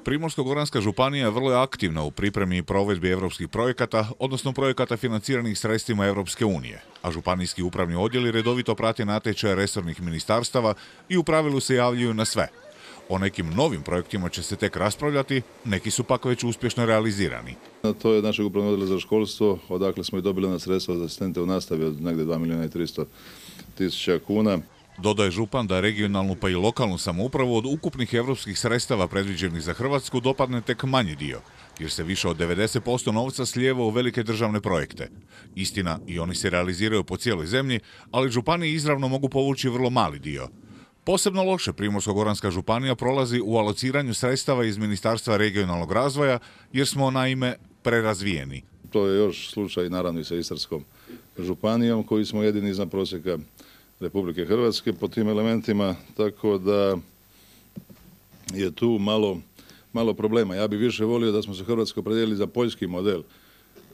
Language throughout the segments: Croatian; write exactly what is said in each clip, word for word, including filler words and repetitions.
Primorsko-goranska županija vrlo je aktivna u pripremi i provedbi europskih projekata, odnosno projekata financiranih sredstvima Europske unije, a županijski upravni odjeli redovito prate natječaje resornih ministarstava i u pravilu se javljaju na sve. O nekim novim projektima će se tek raspravljati, neki su pak već uspješno realizirani. To je našeg upravnog odjela za školstvo, odakle smo i dobili na sredstva za asistente u nastavi od negdje dva milijuna i tristo tisuća kuna. Dodaje župan da regionalnu pa i lokalnu samoupravu od ukupnih europskih sredstava predviđenih za Hrvatsku dopadne tek manji dio, jer se više od devedeset posto novca slijeva u velike državne projekte. Istina, i oni se realiziraju po cijeloj zemlji, ali županiji izravno mogu povući vrlo mali dio. Posebno loše Primorsko-goranska županija prolazi u alociranju sredstava iz Ministarstva regionalnog razvoja, jer smo naime prerazvijeni. To je još slučaj naravno i sa Istarskom županijom, koji smo jedini iznad prosjeka Republike Hrvatske po tim elementima, tako da je tu malo, malo problema. Ja bih više volio da smo se Hrvatsko opredijelili za poljski model.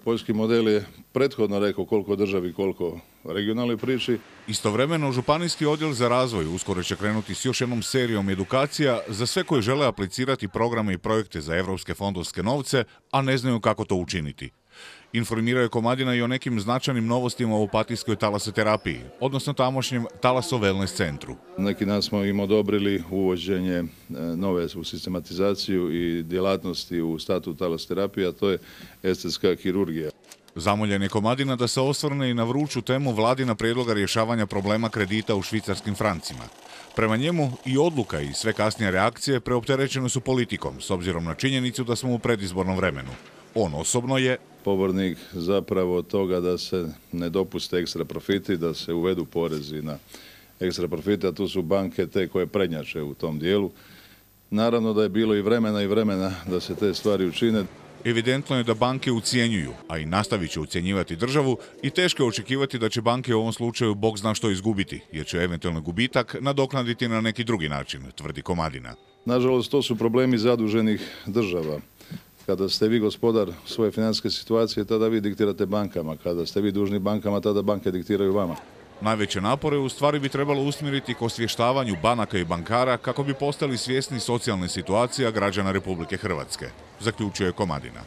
Poljski model je prethodno rekao koliko državi, koliko regionalnoj priči. Istovremeno, županijski odjel za razvoj uskoro će krenuti s još jednom serijom edukacija za sve koji žele aplicirati programe i projekte za evropske fondovske novce, a ne znaju kako to učiniti. Informirao je Komadina i o nekim značajnim novostima u opatijskoj talasoterapiji, odnosno tamošnjem talaso-wellness centru. Neki dan smo im odobrili uvođenje nove u sistematizaciju i djelatnosti u statut talasoterapije, a to je estetska kirurgija. Zamoljen je Komadina da se osvrne i na vruću temu vladina prijedloga rješavanja problema kredita u švicarskim francima. Prema njemu i odluka i sve kasnije reakcije preopterećene su politikom, s obzirom na činjenicu da smo u predizbornom vremenu. On osobno je pobornik zapravo toga da se ne dopuste ekstra profiti, da se uvedu porezi na ekstra profite, a tu su banke te koje prednjače u tom dijelu. Naravno da je bilo i vremena i vremena da se te stvari učine. Evidentno je da banke ucijenjuju, a i nastavit će ucjenjivati državu i teško je očekivati da će banke u ovom slučaju bog zna što izgubiti, jer će eventualni gubitak nadoknaditi na neki drugi način, tvrdi Komadina. Nažalost, to su problemi zaduženih država. Kada ste vi gospodar svoje financijske situacije, tada vi diktirate bankama. Kada ste vi dužni bankama, tada banke diktiraju vama. Najveće napore u stvari bi trebalo usmjeriti k osvještavanju banaka i bankara kako bi postali svjesni socijalne situacije građana Republike Hrvatske, zaključuje Komadina.